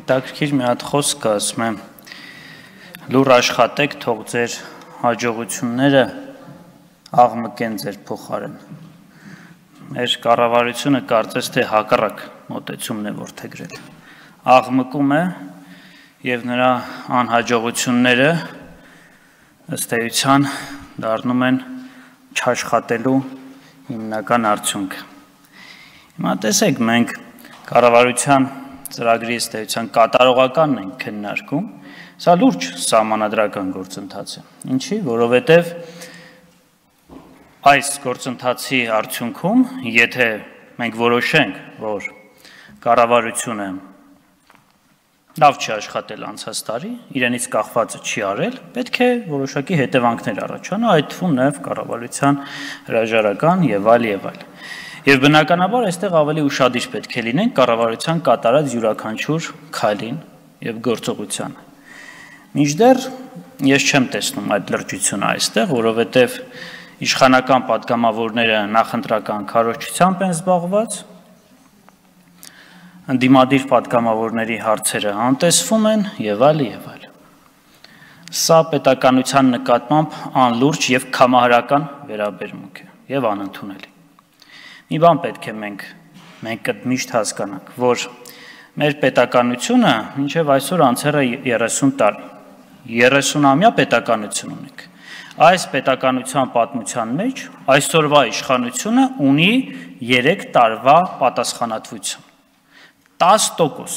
հետաքրքիր մի հատ խոսք կա, ասում եմ, լուր աշխատեք, թող ձեր հաջողությունները աղմկեն ձեր փոխարեն։ Մեր կառավարությունը կարծես թե հակառակ մոտեցումն է որդեգրել։ Աղմկում է եւ նրա անհաջողությունները ըստ էության դառնում են չաշխատելու հիմնական արդյունքը։ Հիմա տեսեք, մենք կառավարության ծրագրի ըստ էության կատարողականն ենք քննարկում, սա լուրջ սահմանադրական գործընթաց է։ Ինչի, որովհետև այս գործընթացի արդյունքում, եթե մենք որոշենք, որ կառավարությունը լավ չի աշխատել անցած տարի, իրենից կախվածը չի արել, պետք է որոշակի հետևանքներ առաջանա, այդ թվում նաև կառավարության հրաժարական եւ այլ եւ այլ։ Եվ բնականաբար այստեղ ավելի ուշադիր պետք է լինենք կառավարության կատարած յուրաքանչյուր քայլին եւ գործողությանը։ Մինչդեռ ես չեմ տեսնում այդ լրջությունը այստեղ, որովհետեւ իշխանական պատգամավորները նախընտրական քարոզչությամբ են զբաղված, ընդդիմադիր պատգամավորների հարցերը անտեսվում են եւ այլ եւ այլ։ Սա պետականության նկատմամբ անլուրջ եւ կամահարական վերաբերմունք է եւ անընդունելի։ Մի բան պետք է մենք միշտ հասկանանք, որ մեր պետականությունը մինչև այսօր անցել է 30 տարի, 30-ամյա պետականություն ունենք։ Այս պետականության պատմության մեջ այսօրվա իշխանությունը ունի 3 տարվա պատասխանատվություն։ 10%,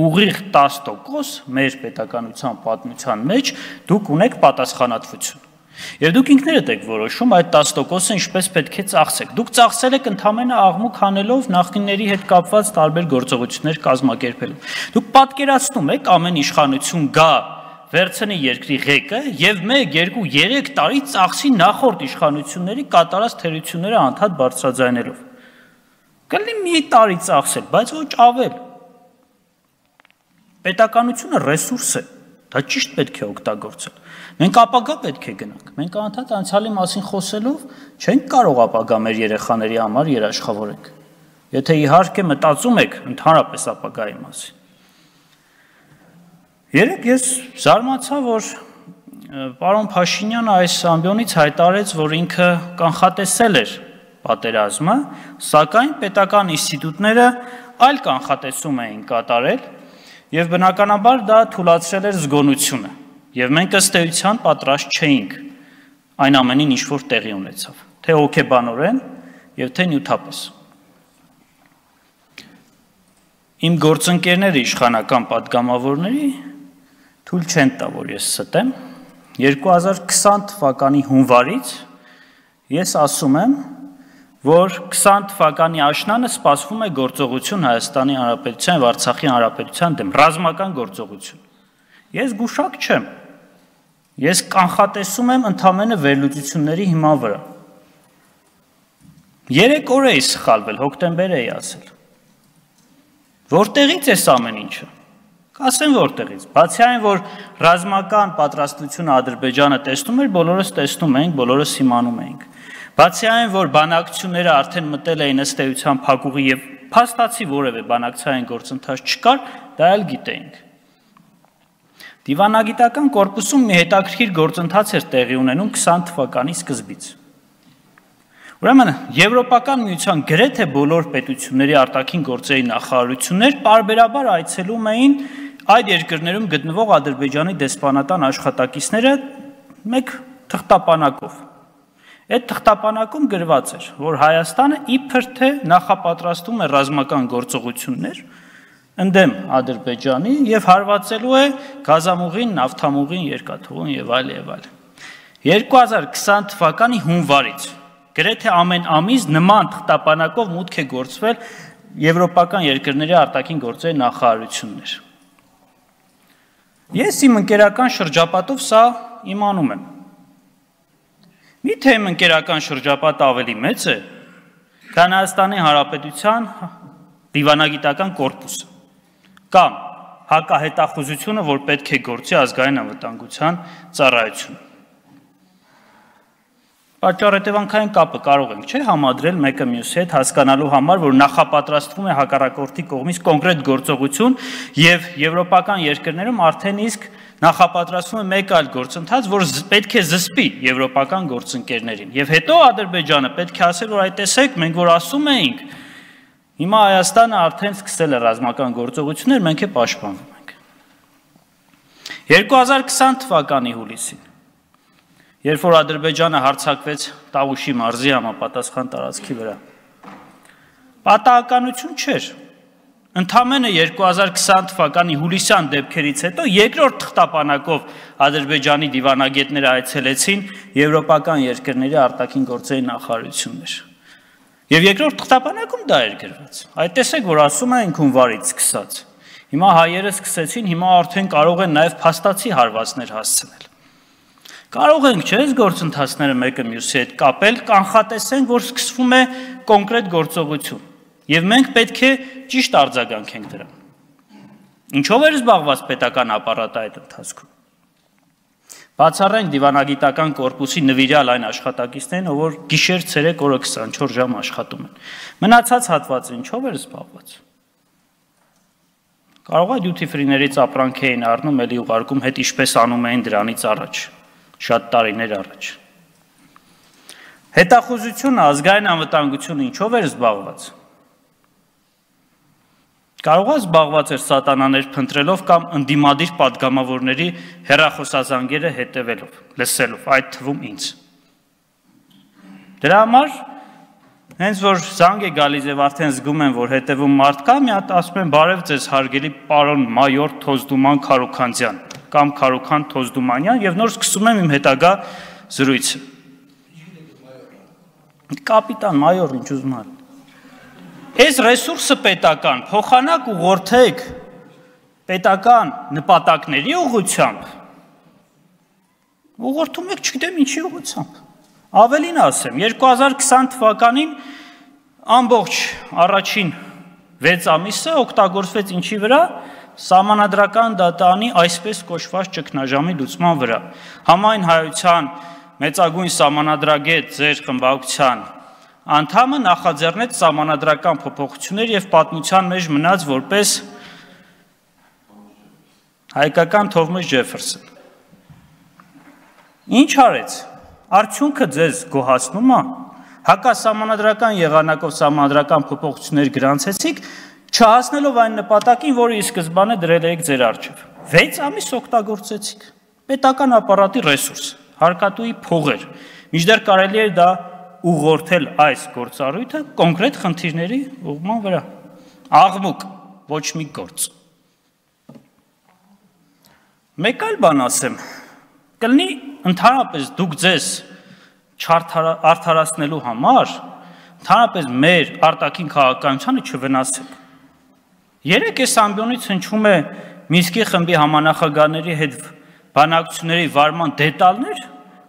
ուղիղ 10% մեր պետականության պատմության մեջ դուք ունեք պատասխանատվություն։ Եվ դուք ինքներդ եք որոշում այդ 10%-ը ինչպես պետք է ծախսեք։ Դուք ծախսել եք ընդամենը աղմուկ հանելով նախկինների հետ կապված տարբեր գործողություններ կազմակերպելով։ Դուք պատկերացնում եք ամեն իշխանություն գա վերցնի երկրի ղեկը եւ 1, 2, 3 տարի ծախսի նախորդ իշխանությունների կատարած թերությունները անդադ բարձրաձայնելով։ Կլինի մի տարի ծախսել, բայց ոչ ավել։ Պետականությունը ռեսուրս է, դա ճիշտ պետք է օգտագործել։ Մենք ապագա պետք է գնանք։ Մենք անդադ անցյալի մասին խոսելով չենք կարող ապագա մեր երեխաների համար երաշխավորենք։ Եթե իհարկե մտածում եք ընդհանրապես ապագայի մասին։ Երեկ ես զարմացա, որ պարոն Փաշինյանը այս ամբիոնից հայտարարեց, որ ինքը կանխատեսել էր պատերազմը, սակայն պետական ինստիտուտները այլ կանխատեսում էին կատարել եւ բնականաբար դա թույլատրել էր զգոնությունը։ Եվ մենք ըստ էության պատրաստ չէինք այն ամենին, ինչ որ տեղի ունեցավ, թե հոգեբանորեն եւ թե նյութապես։ Իմ գործընկերները իշխանական պատգամավորների թույլ չեն տա, որ ես ստեմ։ 2020 թվականի հունվարից ես ասում եմ, որ 20 թվականի աշնանը սպասվում է գործողություն Հայաստանի Հանրապետության եւ Արցախի Հանրապետության դեմ, ռազմական գործողություն։ Ես գուշակ չեմ։ Ես կանխատեսում եմ ընդամենը վերլուծությունների հիման վրա։ 3 օր էի սխալվել, հոկտեմբեր էի ասել։ Որտեղից է ամեն ինչը։ Կասեմ որտեղից։ Բացի այն, որ ռազմական պատրաստությունը Ադրբեջանը տեսնում էր, բոլորս տեսնում էինք, բոլորս իմանում էինք։ Բացի այն, որ բանակցությունները արդեն մտել էին ըստ էության փակուղի եւ փաստացի որևէ բանակցային գործընթաց չկար, դա էլ գիտեինք։ Դիվանագիտական կորպուսում մի հետաքրքիր գործընթաց էր տեղի ունենում 20 թվականի սկզբից։ Ուրեմն Եվրոպական միության գրեթե բոլոր պետությունների արտաքին գործերի նախարարություններ պարբերաբար այցելում էին այդ երկրներում գտնվող Ադրբեջանի դեսպանատան աշխատակիցները մեկ թղթապանակով։ Այդ թղթապանակում գրված էր, որ Հայաստանը իբր թե նախապատրաստում է ռազմական գործողություններ ընդդեմ Ադրբեջանի եւ հարվածելու է գազամուղին, նավթամուղին, երկաթուղին եւ այլ եւ այլ։ 2020 թվականի հունվարից գրեթե ամեն ամիս նման թղթապանակով մուտք է գործվել եվրոպական երկրների արտաքին գործերի նախարարություններ։ Ես իմ ընկերական շրջապատով սա իմանում եմ։ Միթե իմ ընկերական շրջապատը ավելի մեծ է, քան Հայաստանի Հանրապետության դիվանագիտական կորպուսը կամ հակահետախուզությունը, որ պետք է գործի ազգային անվտանգության ծառայությունը։ Պատճառ-հետևանքային կապը կարող ենք չէ համադրել մեկը մյուսի հետ հասկանալու համար, որ նախապատրաստվում է հակառակորդի կողմից կոնկրետ գործողություն եւ եվրոպական երկրներում արդեն իսկ նախապատրաստվում է մեկ այլ գործընթաց, որ պետք է զսպի եվրոպական գործընկերներին։ Եվ հետո Ադրբեջանը պետք է ասել, որ այ տեսեք, մենք որ ասում էինք, հիմա Հայաստանը արդեն սկսել է ռազմական գործողություններ, մենք է պաշտպանվում ենք։ 2020 թվականի հուլիսին երբ որ Ադրբեջանը հարձակվեց Տավուշի մարզի համապատասխան տարածքի վրա, պատահականություն չէր։ Ընդամենը 2020 թվականի հուլիսյան դեպքերից հետո երկրորդ թղթապանակով Ադրբեջանի դիվանագետները այցելեցին եվրոպական երկրների արտաքին գործերի նախարարություններ։ Եվ երկրորդ թղթապանակում դա էր գրված։ Այդ տեսեք, որ ասում են հունվարից սկսած։ Հիմա հայերը սկսեցին, հիմա արդեն կարող են նաև փաստացի հարվածներ հասցնել։ Կարող ենք չէ՞ գործընթացները մեկը մյուսի հետ կապել, կանխատեսենք, որ սկսվում է կոնկրետ գործողություն, եւ մենք պետք է ճիշտ արձագանքենք դրան։ Ինչով էր զբաղված պետական ապարատը այդ ընթացքում։ Բացառենք դիվանագիտական կորպուսի նվիրյալ այն աշխատակիցներին, որ գիշեր-ցերեկ օրը 24 ժամ աշխատում են։ Մնացած հատվածը ինչով էր զբաղված։ Կարող է դյութի ֆրիներից ապրանք էին առնում, էլի ուղարկում հետ ինչպես անում էին դրանից առաջ։ Շատ տարիներ առաջ։ Հետախուզությունը, ազգային անվտանգությունը ինչով էր զբաղված։ Կարող է զբաղված էր սատանաներ փնտրելով կամ ընդդիմադիր պատգամավորների հեռախոսազանգերը հետևելով, լսելով, այդ թվում ինձ։ Դրա համար հենց որ զանգ է գալիս եւ արդեն զգում են, որ հետևում մարդ կա, մի հատ ասում են բարև ձեզ հարգելի պարոն մայոր Թոզդուման Քարոքանյան կամ Քարոքան Թոզդումանյան եւ նոր սկսում եմ իմ հետագա զրույցը։ Կապիտան մայոր ինչ ուզում ալ։ Այս ռեսուրսը պետական, փոխանակ ուղղորդեք պետական նպատակների ուղղությամբ։ Ուղղորդում եք չգիտեմ ինչի ուղղությամբ։ Ավելին ասեմ, 2020 թվականին ամբողջ առաջին 6 ամիսը օգտագործվեց ինչի վրա։ Սահմանադրական դատարանի այսպես կոչված ճգնաժամի լուծման վրա։ Համայն հայության մեծագույն սահմանադրագետ ձեր խմբակցության անդամը նախաձեռնեց սահմանադրական փոփոխություններ եւ պատմության մեջ մնաց որպես հայկական Թովմաս Ջեֆերսոն։ Ինչ արեց։ Արդյունքը ձեզ գոհացնում է։ Հակասահմանադրական եղանակով սահմանադրական փոփոխություններ գրանցեցիք, չհասնելով այն նպատակին, որը ի սկզբանե դրել եք ձեր առջև։ 6 ամիս օգտագործեցիք։ Պետական ապարատի ռեսուրս, հարկատուի փողեր։ Մինչդեռ կարելի էր դա ուղղորդել այս գործառույթը կոնկրետ խնդիրների ուղղման վրա։ Աղմուկ, ոչ մի գործ։ Մեկ այլ բան ասեմ, կլինի ընդհանրապես դուք ձեզ չարդարացնելու համար, ընդհանրապես մեր արտաքին քաղաքականությանը չվնասեք։ Երեք այս ամբիոնից հնչում է Մինսկի խմբի համանախագահների հետ բանակցությունների վարման դետալներ,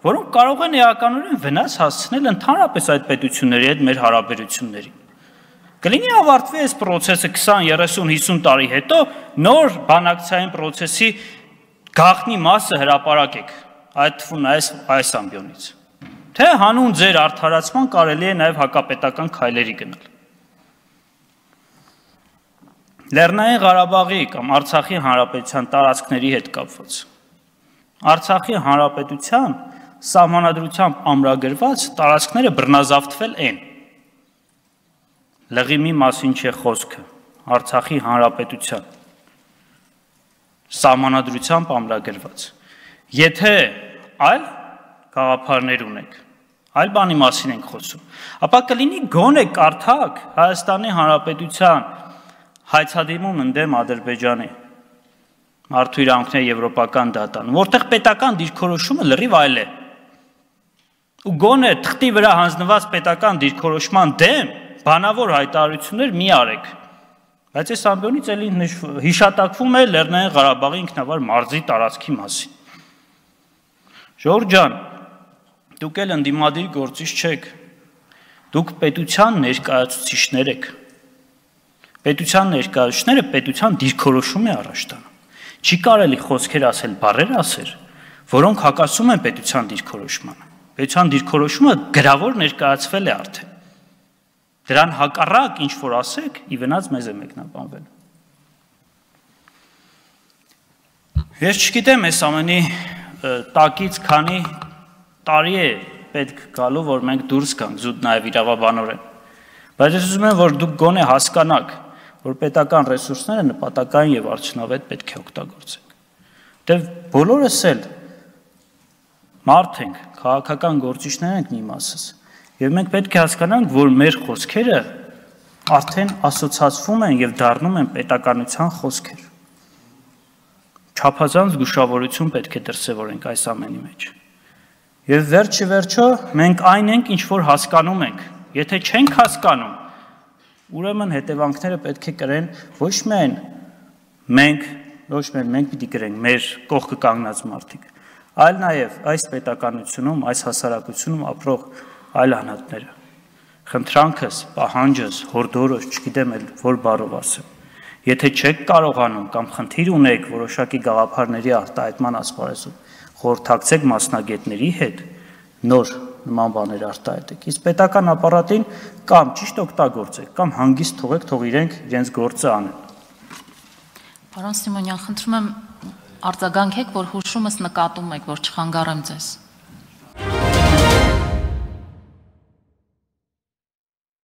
որոնք կարող են էականորեն վնաս հասցնել ընդհանրապես այդ պետությունների հետ մեր հարաբերություններին։ Կլինի ավարտվի այս process-ը 20, 30, 50 տարի հետո նոր բանակցային process-ի գաղտնի մասը հրապարակեք, այդ թվում այս ամբիոնից։ Թե հանուն ձեր արդարացման կարելի է նաև հակապետական քայլերի գնալ։ Լեռնային Ղարաբաղի կամ Արցախի հանրապետության տարածքների հետ կապված։ Արցախի հանրապետության սահմանադրությամբ ամրագրված տարածքները բռնազավթվել են։ Լղիմի մասին չէ խոսքը, Արցախի հանրապետության սահմանադրությամբ ամրագրված։ Եթե այլ գաղափարներ ունեք, այլ բանի մասին ենք խոսում, ապա կլինի գոնե կարդակ Հայաստանի Հանրապետության հայցադիմում ընդդեմ Ադրբեջանի մարդու իրավունքների եվրոպական դատարանում, որտեղ պետական դիրքորոշումը լրիվ այլ է։ Ու գոնե թղթի վրա հանձնված պետական դիրքորոշման դեմ բանավոր հայտարարություններ մի արեք։ Բայց այս ամբիոնից էլի հիշատակվում է Լեռնային Ղարաբաղի ինքնավար մարզի տարածքի մասին։ Ժողովուրդ ջան, դուք էլ ընդդիմադիր գործիչ չեք, դուք պետության ներկայացուցիչներ եք։ Պետության ներկայացուցիչները պետության դիրքորոշում է առաջ տանում։ Չի կարելի խոսքեր ասել, բառեր ասել, որոնք հակասում են պետության դիրքորոշմանը։ Պետության դիրքորոշումը գրավոր ներկայացվել է արդեն։ Դրան հակառակ ինչ որ ասեք, ի վնաս մեզ է մեկնաբանվել։ Ես չգիտեմ այս ամենի տակից քանի տարի է պետք գալու, որ մենք դուրս գանք զուտ նաև իրավաբանորեն։ Բայց ես ուզում եմ, որ դուք գոնե հասկանաք, որ պետական ռեսուրսները նպատակային եւ արդյունավետ պետք է օգտագործենք։ Դե բոլորս էլ մարդ ենք, քաղաքական գործիչներ ենք մի մասս, եւ մենք պետք է հասկանանք, որ մեր խոսքերը արդեն ասոցացվում են եւ դառնում են պետականության խոսքեր։ Չափազանց զգուշավորություն պետք է դրսևորենք այս ամենի մեջ։ Եվ վերջի վերջո մենք այն ենք, ինչ որ հասկանում ենք։ Եթե չենք հասկանում, ուրեմն հետևանքները պետք է կրեն ոչ միայն մենք պիտի կրենք մեր կողքը կանգնած մարդիկ, այլ նաև այս պետականությունում, այս հասարակությունում ապրող այլ անհատները։ Խնդրանքս, պահանջս, հորդորս, չգիտեմ էլ որ բառով ասեմ։ Եթե չեք կարողանում կամ խնդիր ունեք որոշակի գաղափարների արտահայտման ասպարեզում, խորհրդակցեք մասնագետների հետ, նոր նման բաներ արտահայտեք։ Իսկ պետական ապարատին կամ ճիշտ օգտագործեք, կամ հանգիստ թողեք, թող իրենց գործը անեն։ Պարոն Սիմոնյան, խնդրում եմ արձագանքեք, որ հուշումս նկատում եք, որ չխանգարեմ ձեզ։